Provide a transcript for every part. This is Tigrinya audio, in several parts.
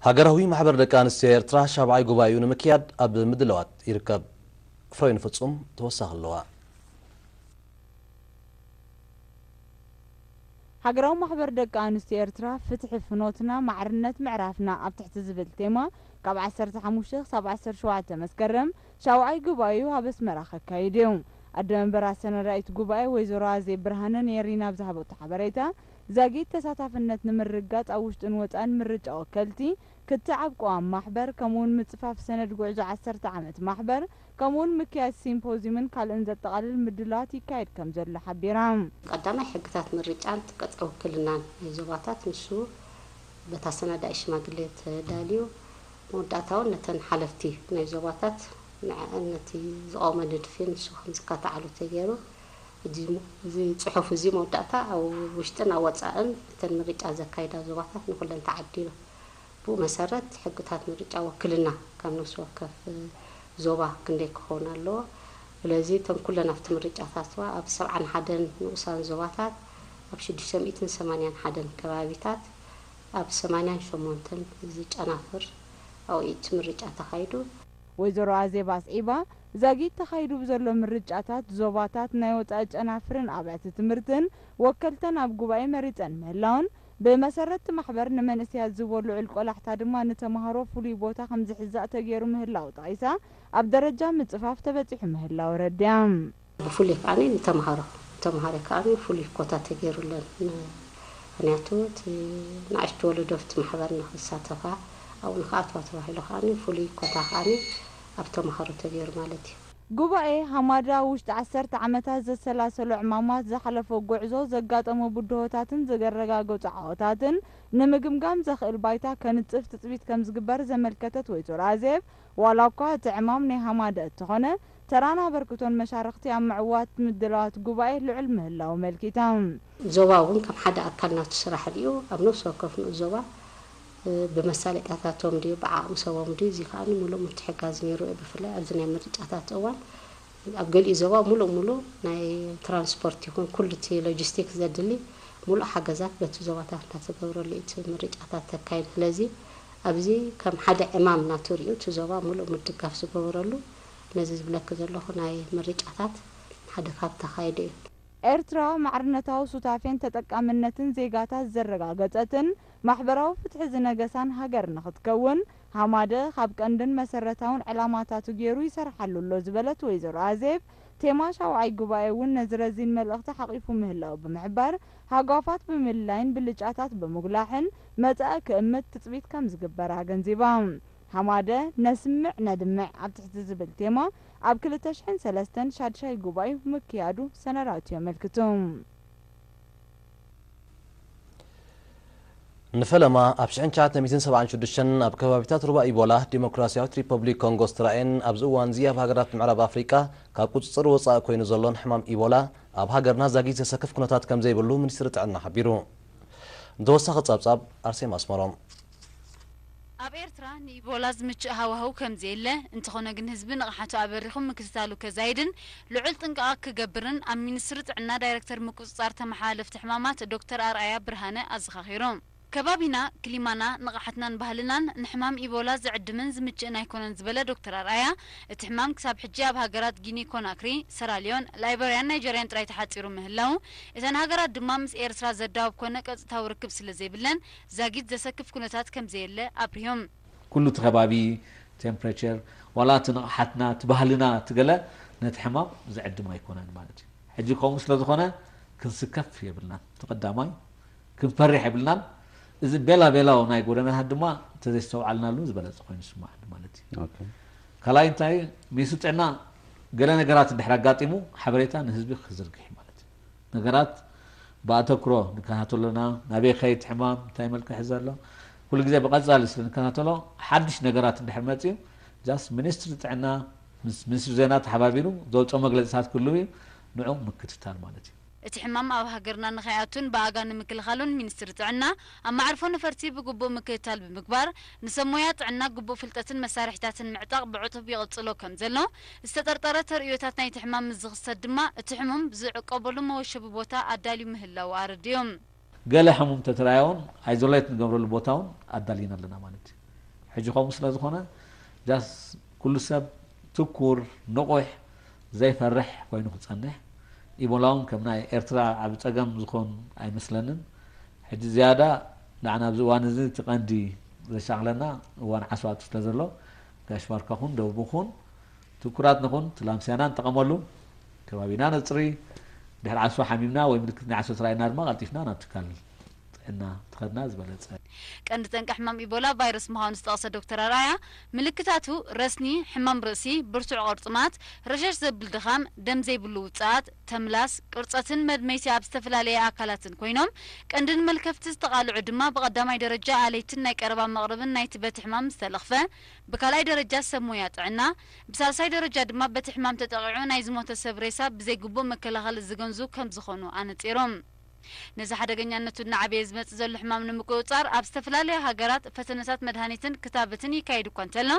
ሃገራዊ ማሕበር ደቂ ኣንስትዮ ኤርትራ ሻብዓይ ጉባኤኡ ንምክያድ ኣብ ምድላዋት ይርከብ። ፍሬን ፍጹም ተወሳኺ ኣለዋ። ሃገራዊ ማሕበር ደቂ ኣንስትዮ ኤርትራ ፍትሒ ፍኖትና ማዕርነት ምዕራፍና ኣብ ትሕቲ ዝብል ቴማ ካብ ዓሰርተ ሓሙሽተ ክሳብ ዓሰርተ ሸውዓተ መስከረም ሻውዓይ ጉባኤኡ ኣብ ኣስመራ ከካይድ እዩ። ኣደ መንበር ኣሰናዳኢት ጉባኤ ወይዘሮ ኣዜብ ብርሃነ ንኤሪና ኣብ ዝሃበቶ ሓበሬታ፣ ዛጊት ተሳታፍነት ንምርግጋጽ ኣብ ውሽጥን ወጻእን ምርጫ ወከልቲ፣ ክትዕ ኣብ ቅዋም ማሕበር፣ ከምኡውን ምጽፋፍ ሰነድ ጉዕዞ ዓሰርተ ዓመት ማሕበር፣ ከምኡውን ምክያድ ሲምፖዝዩምን ካልእን ዘጠቓልል ምድላዋት ይካየድ ከም ዘሎ ሓቢራ። ቀዳማይ ሕግታት ምርጫን ቅጽዒ ውክልናን ናይ ዞባታት ንሱ በታ ኣሰናዳኢ ሽማግሌ ተዳልዩ፣ መወዳእታ እውን ነተን ሓለፍቲ ናይ ዞባታት ንዐኣን ነቲ ዝቐወመ ንድፊ ንሱ ከም ዝካተዓሉ ተገይሩ፣ እዚ ጽሑፍ እዚ መወዳእታ ኣብ ውሽጥን ኣብ ወጻእን እተን ምርጫ ዘካይዳ ዞባታት ንኹለን ተዓዲሉ። ብኡ መሰረት ሕግታት ምርጫ ወክልና ካብ ነፍሲ ወከፍ ዞባ ክንደይ ክኸውን ኣለዎ። ስለዚ እተን ኩለን ኣብቲ ምርጫታትዋ ኣብ ሰብዓን ሓደን ንኡሳን ዞባታት ኣብ ሽዱሽተ ሚእትን ሰማንያን ሓደን ከባቢታት ኣብ ሰማንያን ሸሞንተን ዝጨናፍር ኣብኡ እቲ ምርጫ ተኻይዱ። ወይዘሮ ኣዜብ ኣስዒባ፣ ዛጊት ተኻይዱ ብዘሎ ምርጫታት ዞባታት ናይ ወጻኢ ጨናፍርን ኣብያተ ትምህርትን ወከልተን ኣብ ጉባኤ መሪጸን ምህላውን፣ ብመሰረት እቲ ማሕበር ንመንእሰያት ዝህቦ ልዑል ቆላሕታ ድማ ንተምሃሮ ፍሉይ ቦታ ከም ዝሕዛእ ተገይሩ ምህላው ጠቒሳ፣ ኣብ ደረጃ ምጽፋፍ ተበጺሑ ምህላው ኣረዲኣ። ብፍሉይ ከኣ ንተምሃሮ ንተምሃሮ ከኣ ፍሉይ ኮታ ተገይሩለን። ምኽንያቱ እቲ ንኣሽቱ ወለዶ ኣብቲ ማሕበር ንኽሳተፋ ኣብኡ ንኽኣትዋ ተባሂሉ ከኣ ፍሉይ ኮታ ከኣ ኣብ ተምሃሮ ተገይሩ ማለት እዩ። ጉባኤ ሃማዳ ኣብ ውሽጢ ዓሰርተ ዓመታት ዘሰላሰሎ ዕማማት፣ ዝሓለፎ ጉዕዞ፣ ዘጋጠሙ ብድሆታትን ዘረጋገጹ ዓወታትን ንምግምጋም ዘኽእል ባይታ ከንጽፍ ትጽቢት ከም ዝግበር ዘመልከተት ወይዘሮ ኣዜብ፣ ዋላ እኳ እቲ ዕማም ናይ ሃማዳ እተኾነ፣ ተራን ኣበርክቶን መሻርኽቲ ኣብ ምዕዋት ምድላዋት ጉባኤ ልዑል ምህላው ኣመልኪታ። ዞባ እውን ከም ሓደ ኣካል ናቱ ስራሕ ሪኡ ኣብ ነፍሲ ወከፍ ንኡስ ዞባ ብመሳለጥያታቶም ድዩ ብዓቕሚ ሰቦም ድዩ እዚ ከኣ ምሉእ ምትሕጋዝ ነይሩ እዩ። ብፍላይ ኣብዚ ናይ ምርጫታት እዋን ኣብ ገሊኡ ዞባ ሙሉእ ሙሉእ ናይ ትራንስፖርት ይኹን ኩሉ እቲ ሎጂስቲክስ ዘድሊ ሙሉእ ሓገዛት በቲ ዞባታት እንዳተገብረሉ እዩ እቲ ምርጫታት ተካይድ። ስለዚ ኣብዚ ከም ሓደ ዕማም ናቱ ሪኡ እቲ ዞባ ሙሉእ ምድጋፍ ዝገበረሉ ነዚ ዝብለኪ ዘለኹ ናይ ምርጫታት ሓደ ካብ ተኻይደ እዩ። ኤርትራ ማዕርነታዊ ሱታፌን ተጠቃምነትን ዜጋታት ዘረጋገጸትን ማሕበራዊ ፍትሒ ዝነገሳን ሃገር ንኽትከውን ሃማደ ካብ ቀንድን መሰረታውን ዕላማታቱ ገይሩ ይሰርሓሉ ኣሎ ዝበለት ወይዘሮ ኣዜብ፣ ቴማ ሻውዓይ ጉባኤ እውን ነዚ ረዚን መልእኽቲ ሓቒፉ ምህላው ብምሕባር፣ ሃጓፋት ብምልላይን ብልጫታት ብምጉላሕን መጻኢ ክእምት ትጽቢት ከም ዝግበር ኣገንዚባ። ሃማደ ነስምዕ ነድምዕ ኣብ ትሕቲ ዝብል ቴማ ኣብ ክልተ ሽሕን ሰለስተን ሻድሻይ ጉባኤኡ ምክያዱ ሰነዳቱ የመልክቱ። ንፈለማ ኣብ ሽሕን ትሽዓተ ሚእትን ሰብዓን ሽዱሽተን ኣብ ከባቢታት ሩባ ኢቦላ ዲሞክራሲያዊት ሪፐብሊክ ኮንጎ ዝተራእየን ኣብዚ እዋንዚ ኣብ ሃገራት ምዕራብ ኣፍሪቃ ካብ ቁጽጽር ወጻኢ ኮይኑ ዘሎን ሕማም ኢቦላ ኣብ ሃገርና ዛጊት ዘሰክፍ ኩነታት ከም ዘይብሉ ሚኒስትሪ ጥዕና ሓቢሩ። ንተወሳኺ ጸብጻብ ኣርሴማ ኣስመሮም። ኣብ ኤርትራ ንኢቦላ ዝምችእ ሃዋህው ከም ዘየለ፣ እንተኾነ ግን ህዝቢ ንቕሓቱ ኣበሪኹ ምክትታሉ ከዛይድን ልዑል ጥንቃቐ ክገብርን ኣብ ሚኒስትሪ ጥዕና ዳይረክተር ምቁጽጻር ተመሓላለፍቲ ሕማማት ዶክተር ኣርኣያ ብርሃነ ኣዘኻኺሩ። ከባቢና፣ ክሊማና፣ ንቕሓትናን ባህልናን ንሕማም ኢቦላ ዝዕድምን ዝምችእን ኣይኮነን ዝበለ ዶክተር ኣርኣያ፣ እቲ ሕማም ክሳብ ሕጂ ኣብ ሃገራት ጊኒ ኮናክሪ፣ ሰራልዮን፣ ላይበርያን ናይጀርያን ጥራይ ተሓጺሩ ምህላው፣ እተን ሃገራት ድማ ምስ ኤርትራ ዘዳውብ ኮነ ቀጥታዊ ርክብ ስለ ዘይብለን ዛጊት ዘሰክፍ ኩነታት ከም ዘየለ ኣብሪሆም። ኩሉ እቲ ከባቢ፣ ቴምፕሬቸር፣ ዋላ እቲ ንቕሓትና፣ እቲ ባህልና፣ እቲ ገለ ነቲ ሕማም ዝዕድም ኣይኮነን ማለት እዩ። ሕጂ ከምኡ ስለ ዝኾነ ክንስከፍ የብልናን። እቲ ቀዳማይ ክንፈርሕ የብልናን። እዚ ቤላ ቤላው ናይ ጎደናታት ድማ እንተዘይስተውዓልናሉ ዝበለጸ ኮይኑ ይስማዓኒ ማለት እዩ። ካልኣይ እንታይ ሚኒስትሪ ጥዕና ገለ ነገራት እንድሕር ኣጋጢሙ ሓበሬታ ንህዝቢ ክዝርግሕ እዩ ማለት እዩ። ነገራት ብኣተኩሮ ንከታተሎ ኣለና። ናበይ ከይድ ሕማም እንታይ መልክዕ ሒዘ ኣሎ ኩሉ ግዜ ብቐጻሊ ስለ ንከታተሎ ሓድሽ ነገራት እንድሕር መጽዩ just ሚኒስትሪ ጥዕና ምስ ሚኒስትሪ ዜና ተሓባቢሩ ዘውፅኦ መግለፅታት ክህልው እዩ። ንዑ ምክትታል ማለት እዩ። እቲ ሕማም ኣብ ሃገርና ንኸይኣቱን ብኣጋ ንምክልኻሉን ሚኒስትሪ ጥዕና ኣብ መዕርፎ ነፈርቲ ብግቡእ ምክትታል ብምግባር ንሰብ ሞያ ጥዕና ግቡእ ፍልጠትን መሳርሒታትን ምዕጣቕ ብዕቱብ ይቕፅሎ ከም ዘሎ ዝተጠርጠረ ተርእዮታት ናይቲ ሕማም ምስ ዝኽሰት ድማ እቲ ሕሙም ዝዕቆበሉ መወሸቢ ቦታ ኣዳልዩ ምህላው ኣረዲኡ። ገለ ሕሙም ተተራእያ እውን ኣይዞሌት ንገብረሉ ቦታ እውን ኣዳሊና ኣለና ማለት እዩ። ሕጂ ከምኡ ስለ ዝኾነ ጃስ ኩሉ ሰብ ትኩር፣ ንቑሕ፣ ዘይፈርሕ ኮይኑ ክጸንሕ፣ ኢቦላ እውን ከም ናይ ኤርትራ ዓቢ ጸገም ዝኾን ኣይመስለንን። ሕጂ ዝያዳ ንዓና ኣብዚ እዋን እዚ እቲ ቀንዲ ዘሻቕለና እዋን ዓስባ ስለ ዘሎ፣ ጋሽ ባርካ ኹን ደቡብ ኹን ትኩራት ንኹን፣ እቲ ላምስያና ንጠቐመሉ፣ ከባቢና ነጽሪ፣ ድሕሪ ዓስባ ሓሚምና ወይ ምልክት ናይ ዓስባ ተራእየና ድማ ቀልጢፍና ናብ ትካል ጥዕና ተኸድና ዝበለጸ። ቀንዲ ጠንቂ ሕማም ኢቦላ ቫይረስ ምዃኑ ዝጠቕሰ ዶክተር ኣርኣያ፣ ምልክታቱ ረስኒ፣ ሕማም ርእሲ፣ ብርቱዕ ቁርጥማት፣ ረሸሽ ዘብል ድኻም፣ ደም ዘይብሉ ውጽኣት፣ ተምላስ፣ ቅርጸትን መድመይቲ ኣብ ዝተፈላለየ ኣካላትን ኮይኖም፣ ቀንዲ ንመልከፍቲ ዝተቓልዑ ድማ ብቐዳማይ ደረጃ ኣለይትን ናይ ቀረባ መቕርብን ናይቲ በቲ ሕማም ዝተለኽፈ፣ ብካልኣይ ደረጃ ሰብ ሞያ ጥዕና፣ ብሳልሳይ ደረጃ ድማ በቲ ሕማም ተጠቒዑ ናይ ዝሞተ ሰብ ሬሳ ብዘይግቡእ መከላኸሊ ዝገንዙ ከም ዝኾኑ ኣነጺሮም። ነዚ ሓደገኛነቱ እናዓበየ ዝመጽእ ዘሎ ሕማም ንምቁጽጻር ኣብ ዝተፈላለያ ሃገራት ፈተነታት መድሃኒትን ክታበትን ይካየድ እኳ እንተሎ፣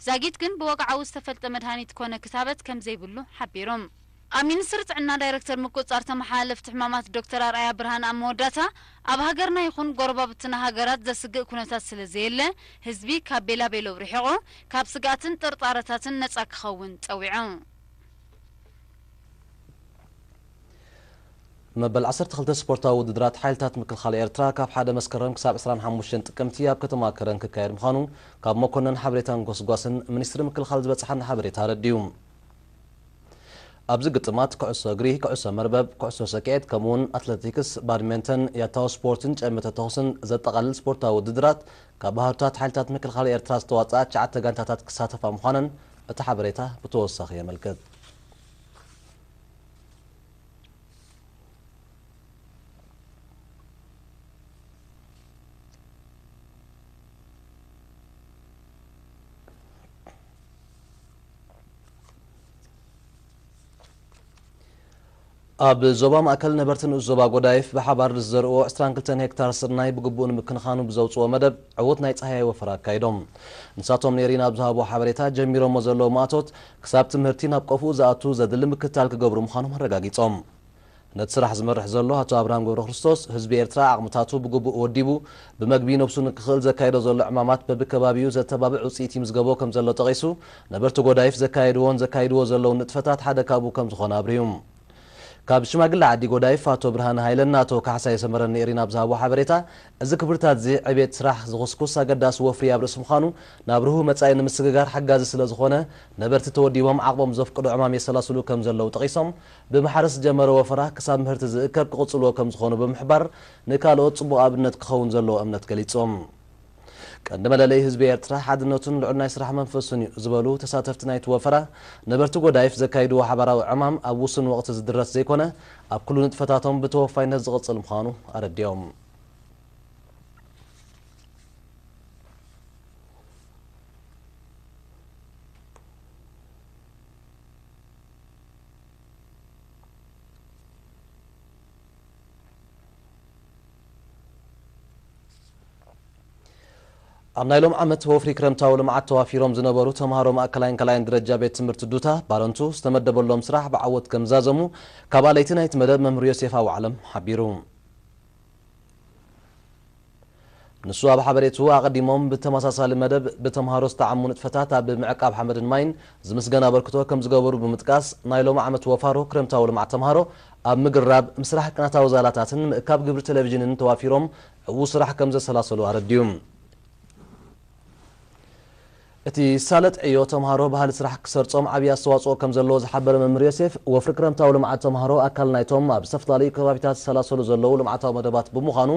ዛጊት ግን ብወግዓዊ ዝተፈልጠ መድሃኒት ኮነ ክታበት ከም ዘይብሉ ሓቢሮም። ኣብ ሚኒስትሪ ጥዕና ዳይረክተር ምቁጽጻር ተመሓላለፍቲ ሕማማት ዶክተር ኣርኣያ ብርሃን ኣብ መወዳእታ፣ ኣብ ሃገርና ይኹን ጎረባብትና ሃገራት ዘስግእ ኩነታት ስለ ዘየለ፣ ህዝቢ ካብ ቤላቤለው ርሒቑ ካብ ስግኣትን ጥርጣረታትን ነጻ ክኸውን ጸዊዑ። መበል ዓሰርተ ክልተ ስፖርታዊ ውድድራት ሓይልታት ምክልኻል ኤርትራ ካብ ሓደ መስከረም ክሳብ ዕስራን ሓሙሽተን ጥቅምቲ ኣብ ከተማ ከረን ክካየድ ምዃኑ ካብ መኮነን ሓበሬታን ጎስጓስን ሚኒስትሪ ምክልኻል ዝበጽሓና ሓበሬታ ኣረዲኡ። ኣብዚ ግጥማት ኩዕሶ እግሪ፣ ኩዕሶ መርበብ፣ ኩዕሶ ሰኪዔት፣ ከምኡውን ኣትለቲክስ፣ ባድሜንተን፣ ያታዊ ስፖርትን ጨመተ ተኹስን ዘጠቓልል ስፖርታዊ ውድድራት ካብ ባህርታት ሓይልታት ምክልኻል ኤርትራ ዝተዋጽኣ ትሽዓተ ጋንታታት ክሳተፋ ምዃነን እቲ ሓበሬታ ብተወሳኺ የመልክት። ኣብ ዞባ ማእከል ነበርቲ ንኡስ ዞባ ጎዳይፍ ብሓባር ንዝዘርእዎ ዕስራን ክልተን ሄክታር ስርናይ ብግቡእ ንምክንኻኑ ብዘውፅዎ መደብ ዕዉት ናይ ፃህያይ ወፈራ ኣካይዶም። ንሳቶም ንኤሪና ኣብ ዝሃብዎ ሓበሬታ፣ ጀሚሮሞ ዘለዉ ማእቶት ክሳብ ትምህርቲ ናብ ቆፍኡ ዝኣቱ ዘድሊ ምክትታል ክገብሩ ምዃኖም ኣረጋጊጾም። ነቲ ስራሕ ዝመርሕ ዘሎ ኣቶ ኣብርሃም ገብረክርስቶስ፣ ህዝቢ ኤርትራ ዓቕምታቱ ብግቡእ ወዲቡ፣ ብመግቢ ነብሱ ንክኽእል ዘካይዶ ዘሎ ዕማማት በብከባቢኡ ዘተባብዕ ውጽኢት ይምዝገቦ ከም ዘሎ ጠቒሱ፣ ነበርቲ ጎዳይፍ ዘካየድዎን ዘካይድዎ ዘለውን ንጥፈታት ሓደ ካብኡ ከም ዝኾነ ኣብርሁ። ካብ ሽማግለ ዓዲ ጎዳይፍ ኣቶ ብርሃነ ሃይለን ኣቶ ካሕሳይ ሰመረን ንኤሪና ኣብ ዝሃብዎ ሓበሬታ፣ እዚ ክብርታት እዚ ዕቤት ስራሕ ዝኹስኩስ ኣገዳሲ ወፍሪ ኣብ ርእሲ ምዃኑ፣ ናብ ርሁው መጻኢ ንምስግጋር ሓጋዚ ስለ ዝኾነ፣ ነበርቲ ተወዲቦም ዓቕሞም ዘፍቅዶ ዕማም የሰላስሉ ከም ዘለዉ ጠቒሶም፣ ብማሕረስ ዝጀመረ ወፈራ ክሳብ ምህርቲ ዝእከብ ክቕጽልዎ ከም ዝኾኑ ብምሕባር፣ ንካልኦት ጽቡቕ ኣብነት ክኸውን ዘለዎ እምነት ገሊጾም። ቀንዲ መለለዪ ህዝቢ ኤርትራ ሓድነቱን ልዑል ናይ ስራሕ መንፈሱን እዩ ዝበሉ ተሳተፍቲ ናይቲ ወፈራ፣ ነበርቲ ጎዳይፍ ዘካይድዎ ሓባራዊ ዕማም ኣብ ውሱን ወቕቲ ዝድረስ ዘይኮነ፣ ኣብ ኩሉ ንጥፈታቶም ብተወፋይነት ዝቕጽል ምዃኑ ኣረዲኦም። ኣብ ናይ ሎም ዓመት ወፍሪ ክረምታዊ ልምዓት ተዋፊሮም ዝነበሩ ተምሃሮ ማእከላይን ካልኣይን ደረጃ ቤት ትምህርቲ ዱታ ባረንቱ ዝተመደበሎም ስራሕ ብዓወት ከም ዝዛዘሙ ካብ ኣለይቲ ናይቲ መደብ መምህር ዮሴፍ ኣዋዕለም ሓቢሩ። ንሱ ኣብ ሓበሬትኡ ኣቐዲሞም ብተመሳሳሊ መደብ ብተምሃሮ ዝተዓሙ ንጥፈታት ኣብ ምዕቃብ ሓመድን ማይን ዝምስገን ኣበርክቶ ከም ዝገበሩ ብምጥቃስ ናይ ሎም ዓመት ወፋሮ ክረምታዊ ልምዓት ተምሃሮ ኣብ ምግርራብ ምስራሕ ቅናታዊ ዛላታትን ምእካብ ግብሪ ቴሌቪዥንን ተዋፊሮም ዕዉት ስራሕ ከም ዘሰላሰሉ ኣረዲኡ። እቲ ሳለጥ ዕዮ ተምሃሮ ባህሊ ስራሕ ክሰርጾም ዓብዪ ኣስተዋጽኦ ከም ዘለዎ ዝሓበረ መምህር ዮሴፍ፣ ወፍሪ ክረምታዊ ልምዓት ተምሃሮ ኣካል ናይቶም ኣብ ዝተፈላለዩ ከባቢታት ዝሰላሰሉ ዘለዉ ልምዓታዊ መደባት ብምዃኑ፣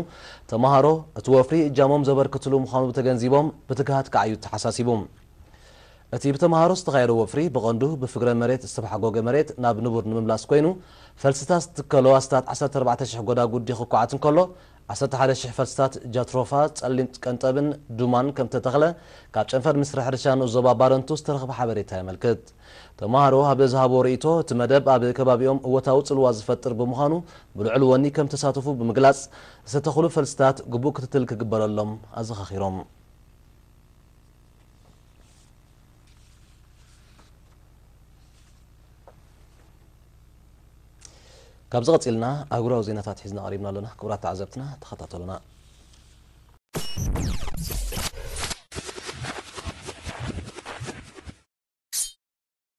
ተምሃሮ እቲ ወፍሪ እጃሞም ዘበርክትሉ ምዃኑ ተገንዚቦም ብትግሃት ክዓዩ ተሓሳሲቡ። እቲ ብተምሃሮ ዝተኻየደ ወፍሪ ብቐንዱ ብፍግረ መሬት ዝተባሕጎገ መሬት ናብ ንቡር ንምምላስ ኮይኑ፣ ፈልስታት ዝትከሎ ኣስታት ዓሰርተ ኣርባዕተ ሽሕ ጎዳጉዲ ክኳዓት እንከሎ፣ ዓሰርተ ሓደ ሽሕ ፈልስታት ጃትሮፋ፣ ጸሊም ቀንጠብን ዱማን ከም ተተኽለ ካብ ጨንፈር ሚኒስትሪ ሕርሻ ንኡስ ዞባ ባረንቱ ዝተረኽበ ሓበሬታ የመልክት። ተምሃሮ ኣብ ዝሃብዎ ርእይቶ፣ እቲ መደብ ኣብ ከባቢኦም እወታዊ ጽልዋ ዝፈጥር ብምዃኑ፣ ብልዑል ወኒ ከም ተሳተፉ ብምግላጽ፣ ዝተተኽሉ ፈልስታት ግቡእ ክትትል ክግበረሎም ኣዘኻኺሮም። ካብዚ ቀጺልና ኣህጉራዊ ዜናታት ሒዝና ቀሪብና ኣለና። ክቡራት ተዓዘብትና፣ ተኸታተሉና።